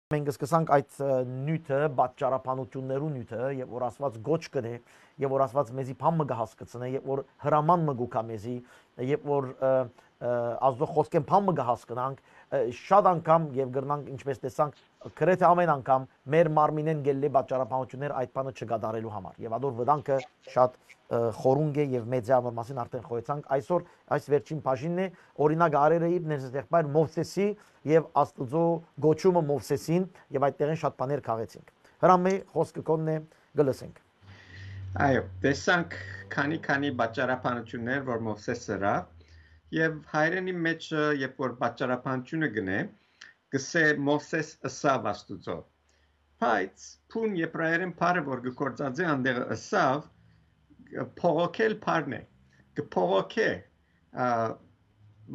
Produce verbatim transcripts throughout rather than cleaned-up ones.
մենք սկսանք այդ, ը, նիւթը, պատճառաբանութիւններու նիւթը, եւ որ Աստուած կոչ կ'ընէ, եւ որ Աստուած մեզի բան մը կը հասկցնէ, եւ որ հրաման մը կու գայ մեզի, եւ որ, ը, ը, Աստուծոյ խօսքէն բան մը կը հասկնանք, ը, շատ անգամ եւ կրնանք, ինչպես տեսանք, գրեթէ ամէն անգամ մեր մարմինէն գելլէ պատճառաբանութիւններ այդ բանը չկատարելու համար։ Եւ ադոր վտանգը շատ, ը, խորունկ է եւ մեծ է, անոր մասին արդեն խոյեցանք։ Այսօր այս վերջին բաժինն է, օրինակ, արերը իր ներսեղբայր Մովսեսի եւ Աստուծոյ կոչումը Մովսեսին, եւ այդտեղէն շատ բաներ քաղեցինք։ Հրամէ, խօսքը քոնն է, կը լսենք։ Այո, տեսանք քանի-քանի պատճառաբանութիւններ, որ Մովսէս ըրաւ, եւ հայերէնի մէջը, երբ որ պատճառաբանութիւնը կ'ընէ, կ'ըսէ Մովսէս ըսաւ Աստուծոյ։ Բայց բուն Եբրայերէն բառը, որ կը գործածէ անդեղը ըսաւ, բողոքել բառն է, կը բողոքէ, ա,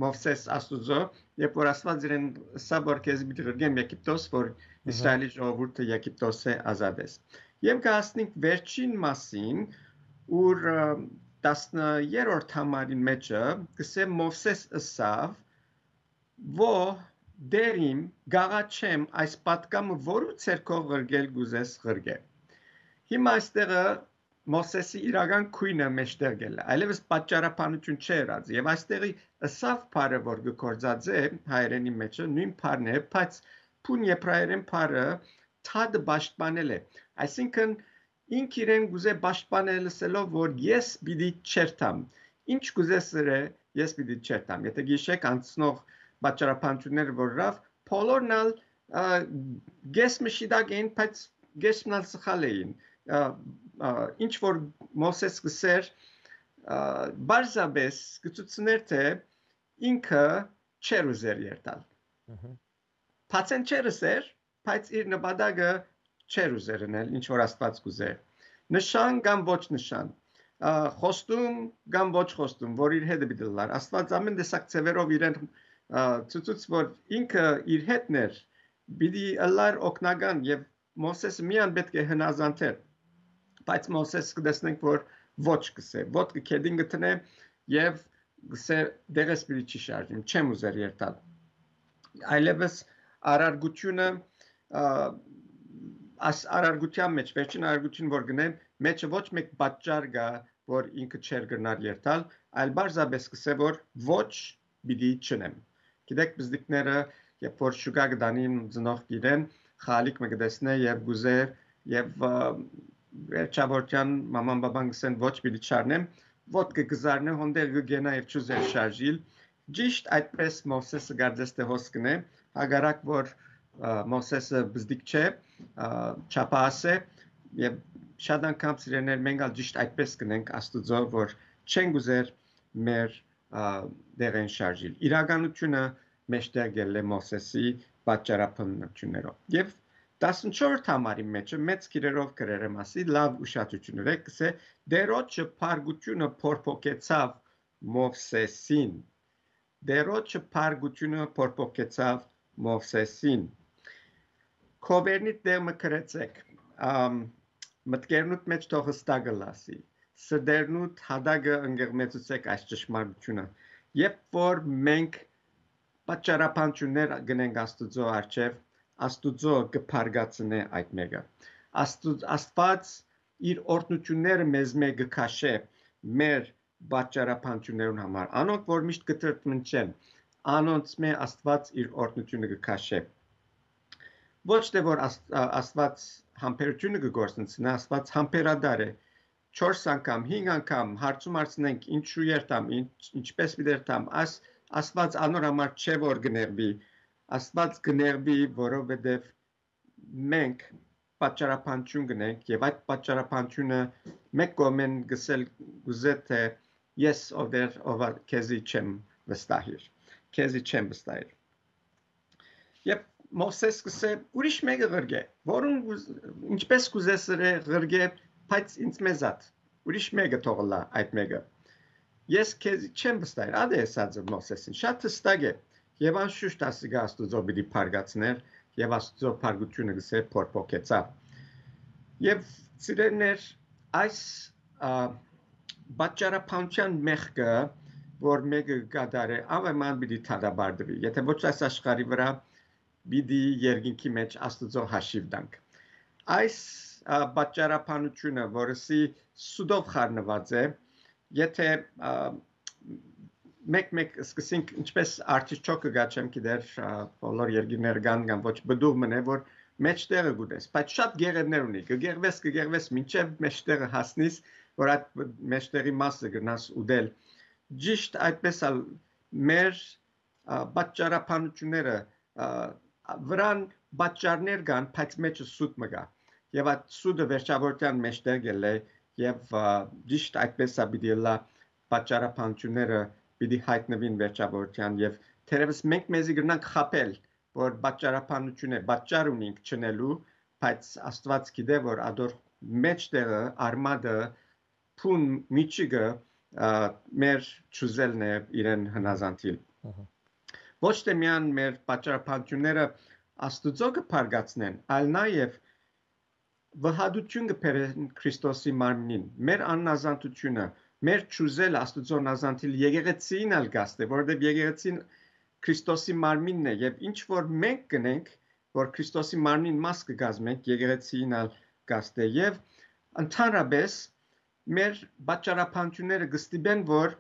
Մովսէս Աստուծոյ, երբ որ Աստուած իրեն ըսաւ, որ քեզի պիտի ղրկեմ Եգիպտոս, որ Մհմ։ Իսրայէլի ժողովուրդը Եգիպտոսէ ազատես։ Եւ կը հասնենք վերջին մասին, ուր, ը, տասներորդ համարին մէջը կ'ըսէ Մովսէս ըսաւ, ո, Տէր իմ, կ'աղաչեմ այս պատգամը որու ձեռքով ղրկել կ'ուզես ղրկէ։ Հիմա այստեղը Մովսէսի իրական քոյնը մէջտեղ գելլէ, այլեւս պատճառաբանութիւն չէ ըրած։ Եւ այստեղի ըսաւ բառը, որ կը գործածէ հայերէնի մէջը, նոյն բառն է, բայց բուն Եբրայերէն բառը թադը պաշտպանել է։ Այսինքն, ինք իրեն կ'ուզէ պաշտպանել ըսելով, որ ես պիտի չերթամ։ Ինչ կ'ուզես ըրէ, ես պիտի չերթամ։ Եթե գիշեք անցնող պատճառաբանութիւնները, որ ըրաւ, բոլորն ալ, ա, կես մը շիտակ էին, բայց կես մն ալ սխալ էին։ Ա, ա, ինչ որ Մովսէս կ'ըսէր, ա, պարզապէս կը ցուցնէր, թէ ինքը չէր ուզեր երթալ։ Մհմ։ Բացեն չէր ըսեր, բայց իր նպատակը չէր ուզեր ընել, ինչ որ Աստուած կ'ուզէ։ Նշան կամ ոչ նշան, ա, խոստում կամ ոչ խոստում, որ իր հետը պիտի ըլլար։ Աստուած ամէն տեսակ ձեւերով իրեն, ա, ցուցուց, որ ինքը իր հետն էր, պիտի ըլլար օգնական, եւ Մովսէսը միայն պէտք է հնազանդէր, բայց Մովսէս կը տեսնենք, որ ոչ կ'ըսէ, ոտքը քեդին կը դնէ եւ կ'ըսէ, «Դեղես պիտի չի շարժիմ, չեմ ուզեր երթալ»։ Այլեւս առարկութիւնը, ա, աս-, առարկութեան մէջ, վերջին առարկութիւն որ կ'ընեմ, մէջը ոչ մէկ պատճառ կայ, որ ինքը չէր կրնար երթալ, այլ պարզապէս կ'ըսէ, որ ոչ պիտի չընեմ։ Գիտէք, պզտիկները, երբ որ շուկայ կը տանին ծնողք իրեն, խալիկ մը կը տեսնէ եւ կ'ուզէ, եւ, ա, վերջավորութեան մաման բաբան կ'ըսեն, «Ոչ պիտի չառնեմ», ոտքը կը զարնէ, հոն տեղ կը կենայ եւ չուզեր շարժիլ։ Ճիշտ այդպէս Մովսէսը կարծես թէ հոս կ'ընէ, հակառակ որ, ա, Մովսէսը պզտիկ չէ, ա, չափահաս է, եւ շատ անգամ, սիրելիներ, մենք ալ ճիշտ այդպէս կ'ընենք Աստուծոյ, որ չենք ուզեր մեր, ա, դեղեն շարժիլ։ Իրականութիւնը մէջտեղ գելլէ Մովսէսի պատճառաբանութիւններով։ Եւ տասնչորսերորդ համարի մէջը մեծ գիրերով գրերը մասի լաւ ուշադրութիւն ըրեք, կ'ըսէ, «Տէրոջը փառքութիւնը փորփոքեցաւ Մովսէսին»։ Տէրոջը փառքութիւնը փորփոքեցաւ Մովսէսին։ Քովերնիդ տեղ մը գրեցեք, ամ, մտքերնուդ մէջ թող հստակ ըլլասի, սրտերնուդ հատակը ընկղմեցուցեք այս ճշմարտութիւնը, երբ որ մենք պատճառաբանութիւններ կ'ընենք Աստուծոյ առջեւ, Աստուծոյ կը փառկացնէ այդ մէկը։ Աստուծ-, Աստուած իր օրհնութիւնները մեզմէ կը քաշէ մեր պատճառաբանութիւններուն համար։ Անոնք, որ միշտ կը տրտնջեն, անոնցմէ Աստուած իր օրհնութիւնը կը քաշէ։ Ոչ թէ որ Ast-, ա-, Աստուած համբերութիւնը կը գործընծնէ, Աստուած համբերատար է։ Չորս անգամ, հինգ անգամ հարցում հարցնենք, ինչու երթամ, ինչ-, ինչպես պիտի երթամ, աս-, Աստուած անոր համար չէ որ կը նեղուի, Աստուած կը նեղուի, որովհետեւ մենք պատճառաբանութիւն կ'ընենք եւ այդ պատճառաբանութիւնը մէկ կողմէն կ'ըսել կ'ուզէ թէ ես ով Տէր, ով ա, քեզի չեմ վստահիր, քեզի չեմ վստահիր։ Երբ Մովսէս կ'ըսէ, «Ուրիշ մէկը ղրկէ, որուն կուզ-, ինչպես կ'ուզես ըրէ ղրկէ, բայց ինձ մեզատ, ուրիշ մէկը թող ըլլայ այդ մէկը»։ Ես քեզի չեմ վստահեր, ատե ըսած է Մովսէսին, շատ հստակ է, եւ անշուշտ ասիկա Աստուծոյ պիտի փառկացներ, եւ Աստուծոյ փառկութիւնը կ'ըսէ փորփոքեցաւ։ Եւ սիրելիներ, այս, ա, պատճառաբանութեան մեղքը, որ մէկը կը կատարէ, անվեման պիտի դատապարտուի։ Եթե ոչ այս աշխարհի վրայ, պիտի երկինքի մէջ Աստուծոյ հաշիւ տանք։ Այս, ա, պատճառաբանութիւնը, որ ըսի սուտով խառնուած է, եթե, ա, մեկ-մեկ սկսենք, ինչպես արտիչոկը գա, չեմ գիտեր, ա, բոլոր երկիրները կան կամ ոչ, պտուղ մնե, որ մէջտեղը կուտես, բայց շատ գեղերներ ունի, կը գեղվես, կը գեղվես, մինչեւ մէջտեղը հասնիս, որ այդ մէջտեղի մասը կրնաս ուտել։ Ճիշտ այդպես ալ մեր, ա, պատճառաբանությունները, ա, վրան պատճառներ կան, բայց մէջը սուտ մը կա։ Եւ այդ սուտը վերջավորութեան մէջտեղ կ'ելլէ, եւ, ա, ճիշտ այդպես ա պիտի ըլլայ պատճառաբանությունները պիտի յայտնուին վերջավորութեան, եւ թերեւս մենք մեզի կրնանք խաբել, որ պատճառաբանություն է, պատճառ ունինք չնելու, բայց Աստուած գիտէ, որ ադոր մէջտեղը, արմատը, բուն միջիկը, ա, մեր չուզելն է իրեն հնազանդիլ։ Ահա։ Ոչ թե միայն մեր պատճառաբանությունները Աստուծոյ կը բարգացնեն, այլ նաեւ վհատութիւն կը բերեն Քրիստոսի մարմնին։ Մեր աննազանդությունը, մեր չուզելը Աստուծոյ նազանդիլ եկեղեցին ալ կ'աստէ, որովհետեւ եկեղեցին Քրիստոսի մարմինն է, եւ ինչ որ մենք կ'ընենք, որ Քրիստոսի մարմնին մաս կը կազմենք, եկեղեցին ալ կ'աստէ։ Եւ ընդհանրապէս մեր պատճառաբանությունները կը ստիպեն, որ,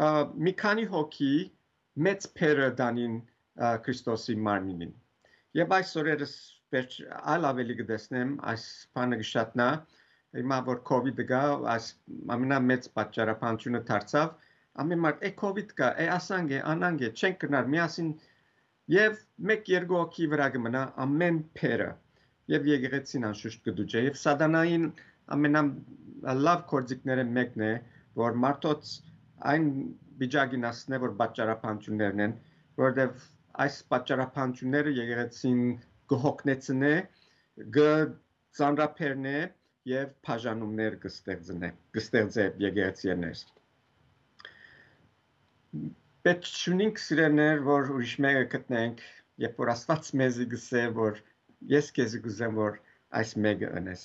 ա, մի քանի հոգի մեծ բեռը տանին, ա, Քրիստոսի մարմինին։ Եւ այս օրերս վերջ այլ աւելի կը տեսնեմ, այս բանը կը շատնայ, հիմա որ COVID-ը գայ, այս ամենամեծ պատճառաբանությունը դարձաւ, ամեն մարդ, «Է, COVID կայ, է, ասանկ է, անանկ է, չենք կրնար միասին», եւ մեկ-երկու հոգի վրայ կը մնայ ամէն բեռը, եւ եկեղեցին անշուշտ կը դուժէ, եւ սատանային ամենալաւ գործիքներէն մէկն է, որ մարդոց այն վիճակին հասցնէ, որ պատճառաբանություններն են, որովհետեւ այս պատճառաբանությունները եկեղեցին կը հոգնեցնէ, կը ծանրաբեռնէ եւ բաժանումներ կը ստեղծնէ, կը ստեղծէ եկեղեցիներս։ Պէտք չունինք, սիրելիներ, որ ուրիշ մեկը գտնենք, երբ որ Աստուած մեզի կ'ըսէ, որ ես քեզի կ'ուզեմ, որ այս մեկը ընես։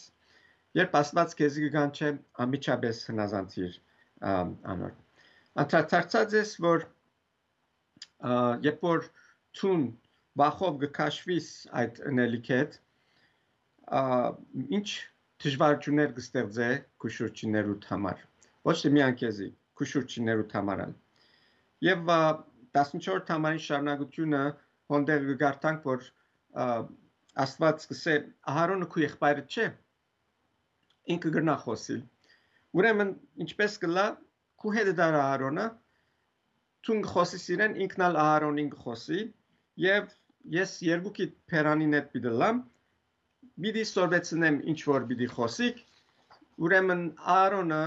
Երբ Աստուած քեզի կը կանչէ, անմիջապէս հնազանդիր, ա, անոր։ Անդրադարձած ես, որ, ա, երբ որ դուն վախով կը քաշուիս այդ ընելիքէդ, ա, ինչ դժվարութիւններ կը ստեղծէ քու շուրջիններուդ համար։ Ոչ թե միայն քեզի, քու շուրջիններուդ համար ալ։ Եւ, ա, տասնչորսերորդ համարին շարունակութիւնը հոն տեղ կը կարդանք, որ, ա, Աստուած կ'ըսէ, «Ահարոնը քու եղբայրդ չէ, ինքը կրնայ խօսիլ»։ Ուրեմն, ինչպէս կ'ըլլայ, քու հետդ առ Ահարոնը, դուն կը խօսիս իրեն, ինքն ալ Ահարոնին կը խօսի, եւ ես երկուքիդ բերանին հետ պիտի ըլլամ, պիտի սորվեցնեմ ինչ որ պիտի խօսիք, ուրեմն Ահարոնը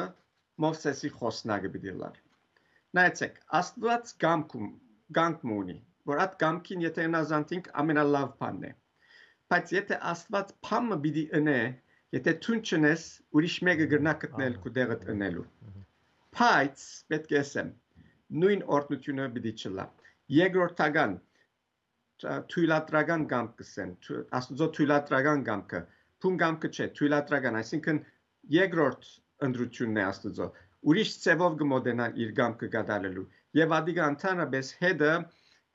Մովսէսի խօսնակը պիտի ըլլար։ Նայեցէք, Աստուած կամք ու, կամք մը ունի, որ այդ կամքին եթե հնազանդինք, ամենալաւ բանն է։ Բայց եթե Աստուած բան մը պիտի ընէ, եթե դուն չընես, ուրիշ մեկը կրնայ գտնել Ահա։ քու տեղդ ընելու։ Ահա։ Բայց, պէտք է ասեմ, նոյն օրհնութիւնը պիտի չըլլայ։ Երկրորդական, ա, թոյլատրական կամք կ'ըսեն, թո-, Աստուծոյ թոյլատրական կամքը, բուն կամքը չէ, թոյլատրական, այսինքն երկրորդ ընտրութիւնն է Աստուծոյ։ Ուրիշ ձեւով կը մօտենայ իր կամքը կատարելու։ Եւ ատիկա ընդհանրապէս հետը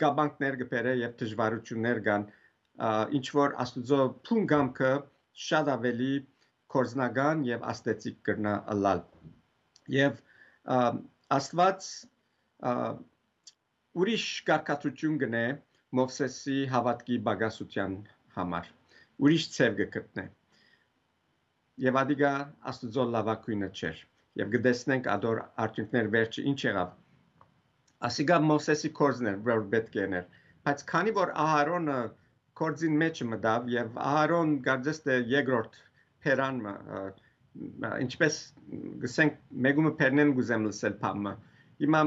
կապանքներ կը բերէ եւ դժվարութիւններ կան, ա, ինչ որ Աստուծոյ բուն կամքը շատ աւելի կորձնական եւ աստեցիկ կրնայ ըլլալ։ Եւ, ա, Աստուած, ա, ուրիշ կարգադրութիւն կ'ընէ Մովսէսի հաւատքի պակասութեան համար։ Ուրիշ ձեւ կը գտնէ։ Եւ ատիկա Աստուծոյ լաւագոյնը չէր։ Եւ կը տեսնենք ադոր արդիւնքներ վերջը ինչ եղաւ։ Ասիկա Մովսէսի կորձն էր, որ պէտք է ընէր։ Բայց քանի որ Ահարոնը կորձին մէջը մտաւ եւ Ահարոն կարծես թէ երկրորդ բերան մը, ը, ը, ինչպես կ'ըսենք, մէկումը բերնեն կ'ուզեմ լսել բան մը։ Հիմա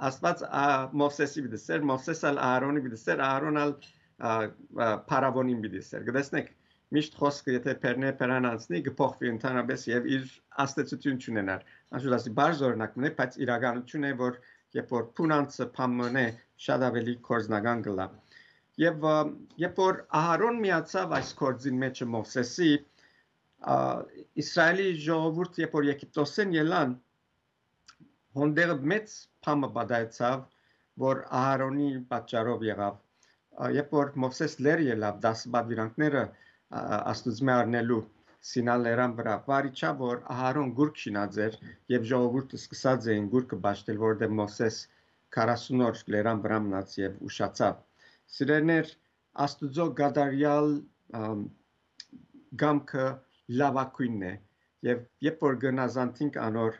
Աստուած, ա, Մովսէսի պիտի սեր, Մովսէս ալ Ահարոնի պիտի սեր, Ահարոն ալ, ա, ա, փարաւոնին պիտի սեր։ Կը տեսնեք, միշտ խօսքը, եթե բերնէ բերան անցնի, կը փոխուի ընդհանրապէս եւ իր ազդեցութիւն չունենար։ Անշուշտ ասի, բարձ օրինակ մնայ, բայց իրականութիւն է, որ երբ որ բուն անձը բան մնէ, շատ աւելի կորձնական կ'ըլլայ։ Եւ, ը, երբ որ Ահարոն միացաւ այս կորձին մէջը Մովսէսի, ա, Իսրայէլի ժողովուրդ, երբ որ Եգիպտոսէն ելան, հոն տեղը մեծ բան մը պատահեցաւ, որ Ահարոնի պատճառով եղաւ։ երբ որ Մովսէս լեռ ելաւ, տասը պատուիրանքները, ա, Աստուծմէ առնելու Սինա լերան վրայ, վարիչա որ Ահարոն գուրգ շինած էր եւ ժողովուրդը սկսած էին գուրգը պաշտել, որտեղ Մովսէս քառասուն օր լերան վրայ մնաց եւ ուշացաւ։ Սիրելիներ, Աստուծոյ կատարեալ, ամ, կամքը լաւագոյնն է, եւ երբ որ գնազանտինք անոր,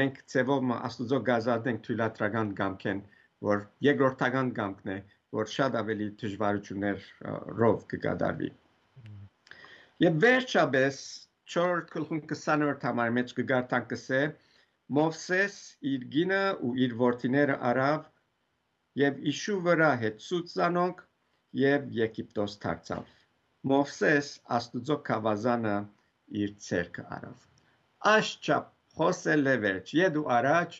մենք ձեւով մը Աստուծոյ կազատենք թոյլատրական կամքէն, որ երկրորդական կամքն է, որ շատ աւելի դժուարութիւններ, ը, -ռով կը կատարուի։ Եւ վերջապէս, չորրորդ գլխուն քսանորդ համար մէջ կը կարդանք, կսէ. «Մովսէս իր կինը ու իր որդիները առաւ եւ իշու վրայ հեծցուց զանոնք եւ Եգիպտոս դարձաւ»։ Մովսէս Աստուծոյ գաւազանը իր ձեռքը առաւ։ Աշչափ խօսել է վերջ, ետ ու առաջ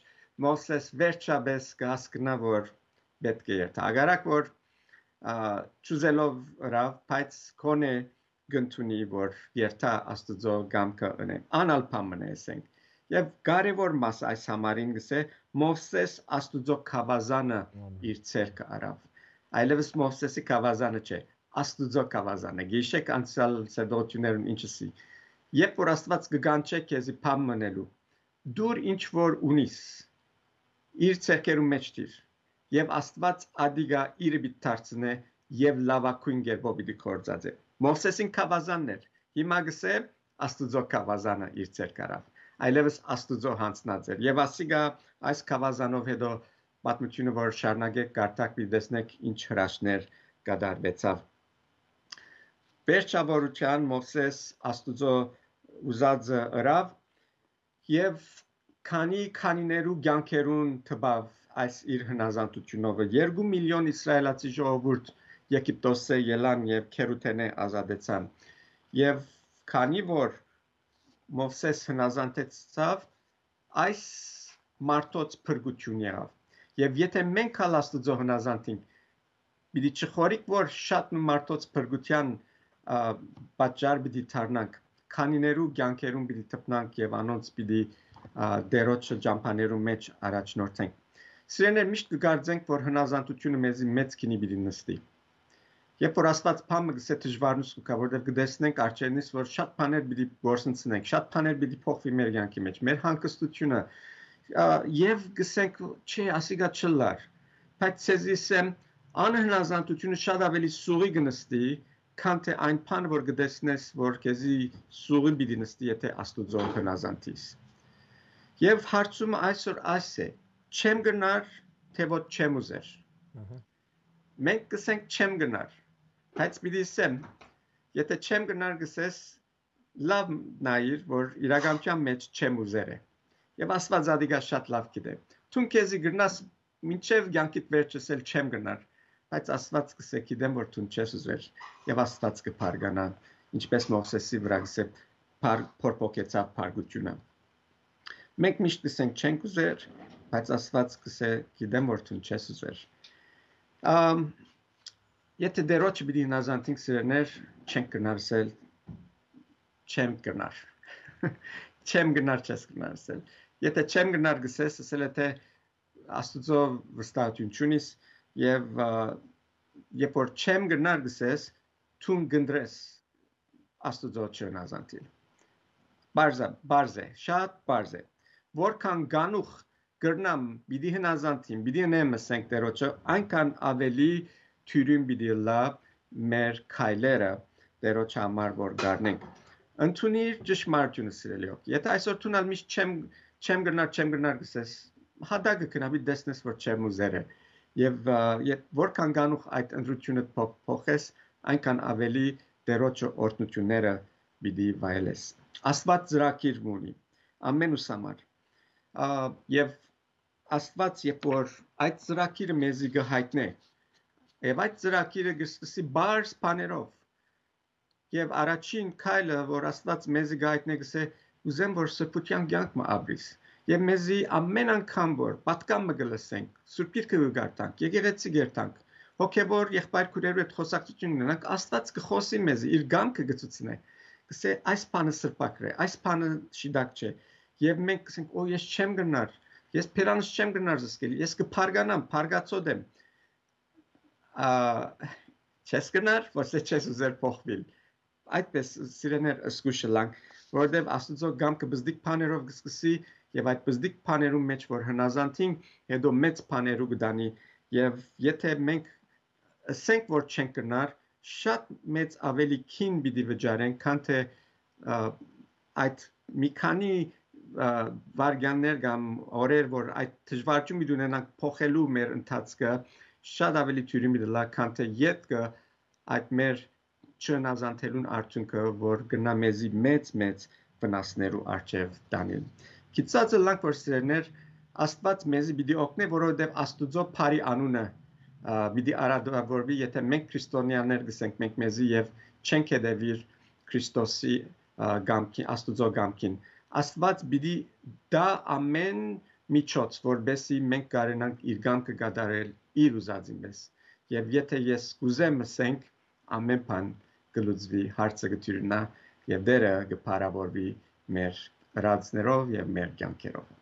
Մովսէս վերջապէս կը հասկնայ, որ պէտք է երթայ։ Ագարակ որ, ա, չուզելով ըրաւ, բայց քոնէ կ'ընդունի, որ երթայ Աստուծոյ կամքը ընէ։ Անալ բան մը ըսենք։ Եւ կարեւոր մաս այս համարին կսէ. «Մովսէս Աստուծոյ գաւազանը իր ձեռքը առաւ»։ Այլեւս Մովսէսի գաւազանը չէ, Աստուծոյ գաւազանը։ Գիշեք անցեալ սերտողութիւններուն ինչ ըսի։ Երբ որ Աստուած կը կանչէ քեզի բան մը ընելու, դուր ինչ որ ունիս, իր ձեռքերուն մէջ դիր, եւ Աստուած ատիկա իրը պիտի դարձնէ եւ լաւագոյն կերպով պիտի գործածէ։ Մովսէսին գաւազանն էր, հիմա կսէ Աստուծոյ գաւազանը իր ձեռք առաւ, այլեւս Աստուծոյ յանձնած էր։ Եւ ասիկա այս գաւազանով հետո պատմութիւնը որ շարունակէք կարդաք, պիտի տեսնէք ինչ հրաշքներ կատարուեցաւ։ Վերջաւորութեան Մովսէս Աստուծոյ ուզածը ըրաւ եւ քանի քանիներու կեանքերուն տպաւ այս իր հնազանդութիւնովը։ Երկու միլիոն իսրայելացի ժողովուրդ Եգիպտոսէ ելան եւ գերութենէ ազատեցան։ Եւ քանի որ Մովսէս հնազանդեցաւ, այս մարդոց փրկութիւն եղաւ։ Եւ եթէ մենք ալ Աստուծոյ հնազանդ ենք, պիտի չխորիկ որ շատ մը մարդոց փրկութեան, ա, պատճառ պիտի դառնանք, քանիներու կեանքերուն պիտի տպնանք եւ անոնց պիտի, ա, Տէրոջը ճամբաներուն մէջ առաջնորդենք։ Սիրելիներ, միշտ կը կարծենք որ հնազանդութիւնը մեզի մեծ գինի պիտի նստի։ Երբ որ Աստուած բան մը կսէ, դժուարնուս կու գայ, որտեղ կը տեսնենք արջերնից որ շատ բաներ պիտի գործընծնենք, շատ բաներ պիտի փոխուի մեր կեանքի մէջ, մեր հանգստութիւնը, ա, եւ կսենք. «Չէ, ասիկա չըլլար»։ Բայց ձեզի ըսեմ, անհնազանդութիւնը շատ աւելի սուղի կը նստի, քան թէ այն բանը որ կը տեսնես որ քեզի սուղի պիտի նստի, եթէ Աստուծոյ հնազանդ ես։ Եւ հարցումը այսօր այս է. չեմ կրնար, թէ ոչ չեմ ուզեր։ Ահա։ Մենք կսենք չեմ կրնար, բայց պիտի ըսեմ, եթէ չեմ կրնար կսես, լաւ նայիր որ իրականութեան մէջ չեմ ուզեր է։ Եւ Աստուած ատիկա շատ լաւ գիտէ։ Դուն քեզի կրնաս մինչեւ կեանքիդ վերջը ըսել չեմ կրնար, բայց Աստուած կսէ. «Գիտեմ որ դուն չես ուզեր»։ Եւ Աստուած կը բարգանայ, ինչպէս Մովսէսի վրայ կսէ, փար-, փորփոքեցաւ փառքութիւնը։ Մենք միշտ կսենք չենք ուզեր, բայց Աստուած կսէ. «Գիտեմ որ դուն չես ուզեր»։ Ամ, եթէ Տէրոջը պիտի հնազանդինք, սիրելիներ, չենք կրնար ըսել չեմ կրնար։ Չեմ կրնար, չես կրնար ըսել։ Եթէ չեմ կրնար կսես, ըսել է թէ Աստուծոյ վստահութիւն չունիս, եւ, ա, երբ որ չեմ կրնար կսես, դուն կընտրես Աստուծոյ չհնազանդիլ։ Պարզ է, պարզ է, շատ պարզ է։ Որքան կանուխ կրնամ, պիտի հնազանդիմ, պիտի ընեմ, ըսենք Տէրոջը, այնքան աւելի թիւրին պիտի ըլլայ մեր քայլերը Տէրոջը համար որ կառնենք։ Ընդունիր ճշմարտութիւնը, սիրելի հոգ։ Եթէ այսօր դուն ալ միշտ չեմ, չեմ կրնար, չեմ կրնար կսես, հատակը գնա, պիտի տեսնես որ չեմ ուզեր է։ Եւ, ա, եթ-, որքան կանուխ այդ ընտրութիւնը փոխ-, փոխես, այնքան աւելի Տէրոջը օրհնութիւնները պիտի վայելես։ Աստուած ծրագիր մը ունի ամենուս համար։ Ա, եւ Աստուած, երբ որ այդ ծրագիրը մեզի կը յայտնէ, եւ այդ ծրագիրը կը սկսի բարձ բաներով, եւ առաջին քայլը, որ Աստուած մեզի կը յայտնէ, կսէ. «Ուզեմ որ սրբութեան կեանք մը ապրիս»։ Եւ մեզի ամեն անգամ որ պատկան մը կը լսենք, Սուրբ Գիրքը կը կարդանք, եկեղեցի կերտանք, հոգեվոր եղբայր քուրերու հետ խոսակցութիւն ունենանք, Աստուած կը խօսի մեզի, իր կամքը կը ցուցնէ, կսէ. «Այս բանը սրբակր է, այս բանը շիտակ չէ»։ Եւ մենք կսենք. «Օ, ես չեմ կրնար, ես բերանս չեմ կրնար զսկել, ես կը բարգանամ, բարգացոտ եմ»։ ա, չես կրնար, որ սա չես ուզեր փոխուիլ։ Այդպես, սիրեներ, զգուշ ըլլանք, որովհետեւ Աստուծոյ կամքը բզդիկ բաներով կը սկսի, եւ այդ բզդիկ բաներուն մէջ որ հնազանդին, հետո մեծ բաներու կը տանի, եւ եթե մենք ըսենք որ չենք կրնար, շատ մեծ ավելի քին պիտի վճարենք, քան թե, ա, այդ մի քանի, ա, վայրկյաններ կամ օրեր, որ այդ դժվարութիւն պիտի ունենանք փոխելու մեր ընթացքը, շատ ավելի դիւրին պիտի ըլլայ, քան թե ետքը այդ մեր չհնազանդելուն արդիւնքը, որ կրնայ մեզի մեծ-մեծ վնասներու առջեւ տանիլ։ Գիտցած ըլլանք, որ սիրեներ, Աստուած մեզի պիտի օգնէ, որովհետեւ Աստուծոյ բարի անունը, ա, պիտի արատաւորուի, եթե մենք քրիստոնեաներ կ'ըսենք մենք մեզի եւ չենք հետեւիր Քրիստոսի, ա, կամքին, Աստուծոյ կամքին։ Աստուած պիտի տայ ամէն միջոց, որպեսզի մենք կարենանք իր կամքը կատարել իր ուզածին պես։ Եւ եթե ես կ'ուզեմ, ըսենք, ամէն բան կը լուծուի, հարցը կը դիւրնայ եւ Տէրը կը փառաւորուի մեր ըրածներով եւ մեր կեանքերով։